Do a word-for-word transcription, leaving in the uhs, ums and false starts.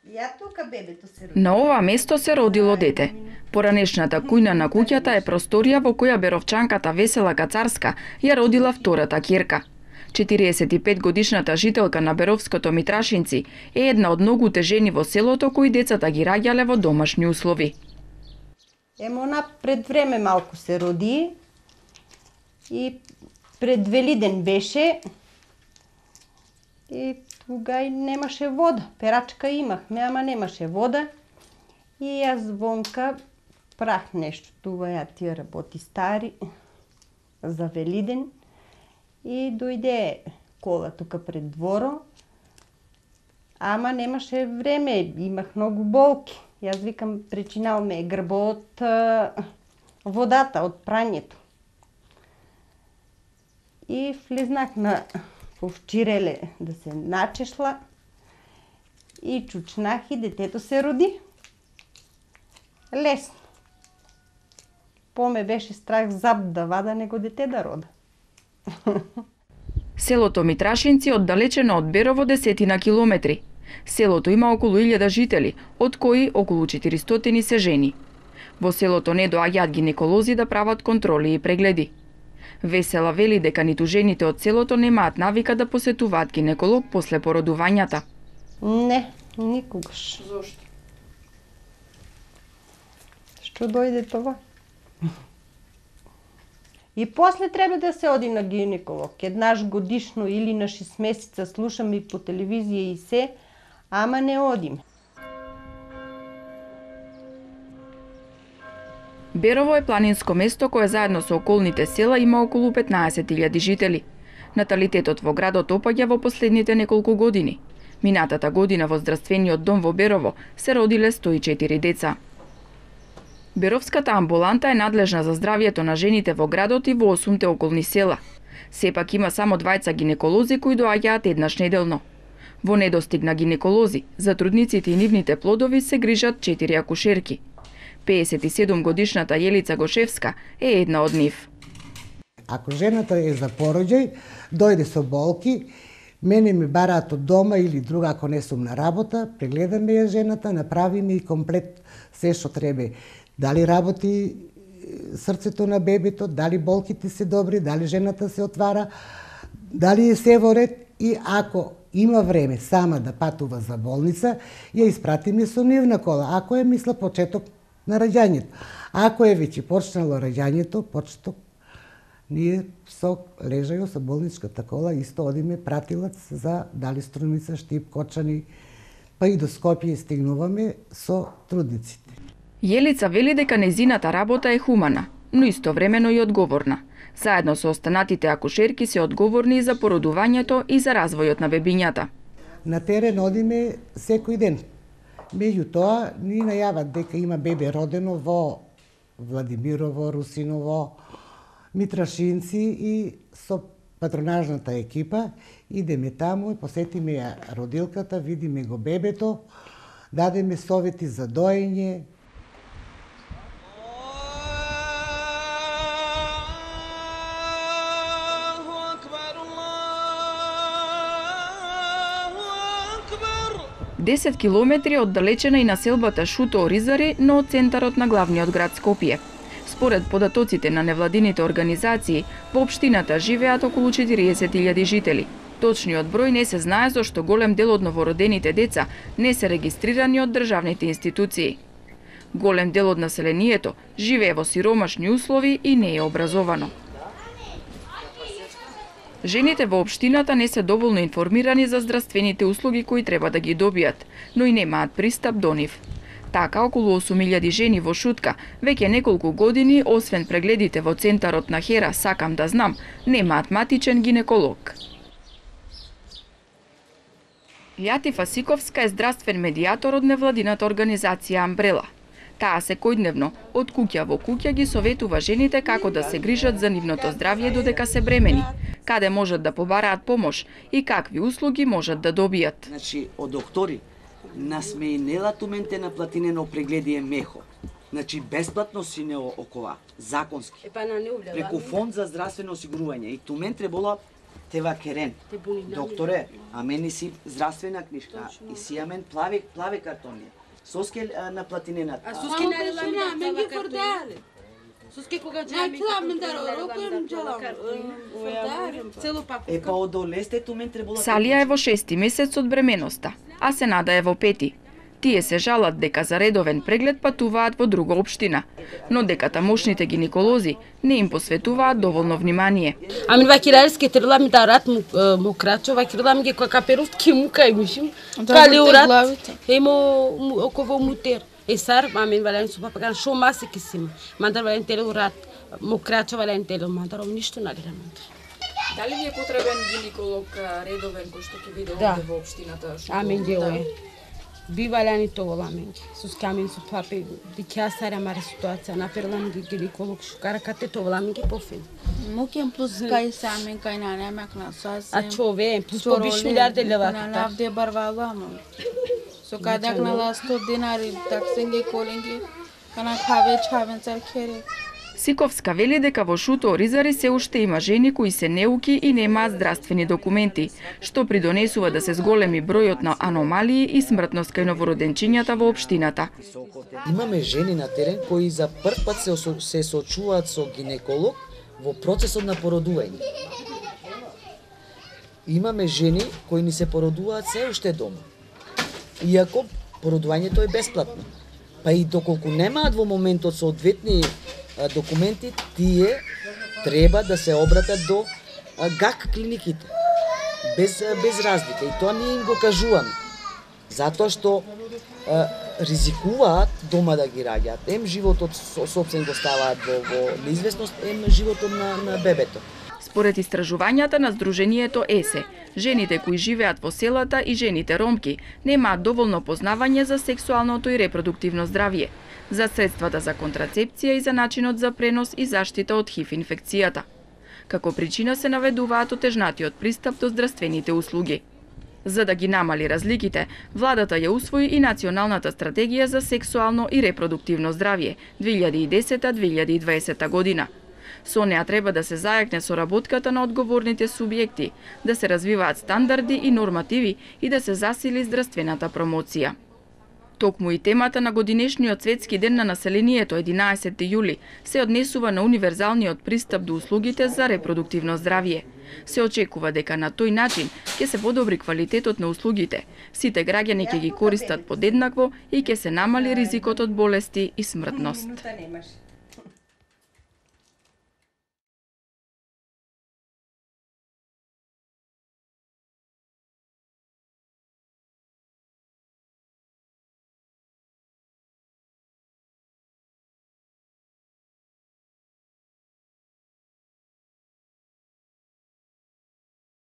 Ја тука бебето се роди. На ова место се родило дете. Поранешната кујна на куќата е просторија во која беровчанката Весела Кацарска ја родила втората ќерка. четириесет и пет годишната жителка на Беровското Митрашинци е една од многуте жени во селото кои децата ги раѓале во домашни услови. Емо она пред време малку се роди и пред Велиден беше и туга и немаше вода. Перачка имахме, ама немаше вода. И јас вонка прах нешто. Тука ја тие работи стари за Велиден. И дојде кола тука пред дворо. Ама немаше време, имах многу болки. Јас викам, причинал ме грбо од водата, од прањето. И влезнах на овчиреле да се начешла и чучнах и детето се роди. Лесно. По-ме беше страх заб да вада него дете да рода. Селото Митрашинци оддалечено од Берово десетина километри. Селото има околу илјада жители, од кои околу четиристотини се жени. Во селото не доаѓаат гинеколози да прават контроли и прегледи. Весела вели дека ниту жените од селото немаат навика да посетуваат гинеколог после породувањата. Не, никогаш. Зошто? Што дојде това? И после треба да се оди на гинеколог. Еднаш годишно или на шест месеца слушам и по телевизија и се, ама не одим. Берово е планинско место кое заедно со околните села има околу петнаесет илјади жители. Наталитетот во градот опаѓа во последните неколку години. Минатата година во здравствениот дом во Берово се родиле сто и четири деца. Беровската амбуланта е надлежна за здравјето на жените во градот и во осумте околни села. Сепак има само двајца гинеколози кои доаѓаат еднаш неделно. Во недостиг на гинеколози, за трудниците и нивните плодови се грижат четири акушерки. пеесет и седум годишната Јелица Гошевска е една од нив. Ако жената е за пороѓај, дојде со болки, мене ми бараат од дома или друга ако не сум на работа, прегледаме ја жената, направиме и комплет се што треба. Дали работи срцето на бебето, дали болките се добри, дали жената се отвара, дали е се во ред и ако има време сама да патува за болница, ја испратиме со нивна кола, ако е мисла почеток на раѓањето. Ако е веќе почнало раѓањето, почеток, ние со лежајо со болничката кола исто одиме пратилац за дали Струмица, Штип, Кочани, па и до Скопје стигнуваме со трудниците. Јелица вели дека незината работа е хумана, но истовремено и одговорна. Заедно со останатите акушерки се одговорни за породувањето и за развојот на бебињата. На терен одиме секој ден. Меѓутоа, ни најават дека има бебе родено во Владимирово, Русиново, Митрашинци и со патронажната екипа идеме таму и посетиме ја родилката, видиме го бебето, дадеме совети за доење. десет километри оддалечена и населбата Шуто Оризари, но од центарот на главниот град Скопје. Според податоците на невладините организации, во општината живеат околу четириесет илјади жители. Точниот број не се знае зашто голем дел од новородените деца не се регистрирани од државните институции. Голем дел од населението живее во сиромашни услови и не е образовано. Жените во општината не се доволно информирани за здравствените услуги кои треба да ги добијат, но и немаат пристап до нив. Така, околу осум илјади жени во Шутка веќе неколку години, освен прегледите во центарот на Хера Сакам да знам, немаат матичен гинеколог. Јати Фасиковска е здравствен медијатор од невладината организација Амбрела. Таа секојдневно од куќа во куќа ги советува жените како да се грижат за нивното здравје додека се бремени, каде можат да побараат помош и какви услуги можат да добијат. Значи, од доктори насме и нелатументе на платинено прегледи е мехо. Значи, бесплатно си не окова, законски. Преку фонд за здравствено осигурување. И тумен требало Тева керен. Докторе, а мене си здравствена книжка и си амен плаве плаве картони. Соске на платинената. А соске на ламина мен ги фордале. Соске кога джами. Най мен да рокуем джалам. Цело пак. Е па одолесте ту мен требало. Салија е во шести месец од бременоста, а Сенада е во пети. Тие се жалат дека за редовен преглед патуваат во друга општина, но дека тамошните гинеколози не им посветуваат доволно внимание. Ами вакирарски трила ми дарат му крачо, вакирла ми ги која каперов ки мука и мишим. Кали урат, емо оково мутер. Е сар, мамин вален су папаган, шо маси кисим. Мандар вален теле урат, му крачо вален теле, мандар ом ништо нали рамандар. Дали ви е потребен гинеколог редовен кој што ќе биде да. овде во општината? Амин ги е. Бивалјани тоа ламен ги. Сус камин су папи, дикја саря маре ситуација, наперла ги гинеколог шукара кате тоа ламен ги пофин. Мукем плюс кај самин кај нане макна сас. А чове, плюс по биш милиарди лева. На навде барваламо. Со кадак на ла сто динари, таксенги колинги, кана каве чавен цар кере. Сиковска вели дека во Шуто Оризари се уште има жени кои се неуки и немаат здравствени документи, што придонесува да се зголеми бројот на аномалии и смртност кај новороденчињата во општината. Имаме жени на терен кои за прв пат се, се соочуваат со гинеколог во процесот на породување. Имаме жени кои ни се породуваат се уште дома. Иако породувањето е бесплатно. Па и доколку немаат во моментот соодветни документи, тие треба да се обратат до ГАК клиниките. Без, без разлика. И тоа ние им го кажуваме. Затоа што а, ризикуваат дома да ги раѓаат. Ем животот собствен го ставаат во, во неизвестност, ем животот на, на бебето. Според истражувањата на Сдруженијето ЕСЕ, жените кои живеат во селата и жените ромки немаат доволно познавање за сексуалното и репродуктивно здравје, за средствата за контрацепција и за начинот за пренос и заштита од ХИВ инфекцијата. Како причина се наведуваат отежнатиот пристап до здравствените услуги. За да ги намали разликите, владата ја усвои и Националната стратегија за сексуално и репродуктивно здравје две илјади и десета до две илјади и дваесета година. Со неа треба да се зајакне соработката на одговорните субјекти, да се развиваат стандарди и нормативи и да се засили здравствената промоција. Токму и темата на годинешниот светски ден на населението единаесети јули се однесува на универзалниот пристап до услугите за репродуктивно здравје. Се очекува дека на тој начин ќе се подобри квалитетот на услугите, сите граѓани ќе ги користат подеднакво и ќе се намали ризикот од болести и смртност.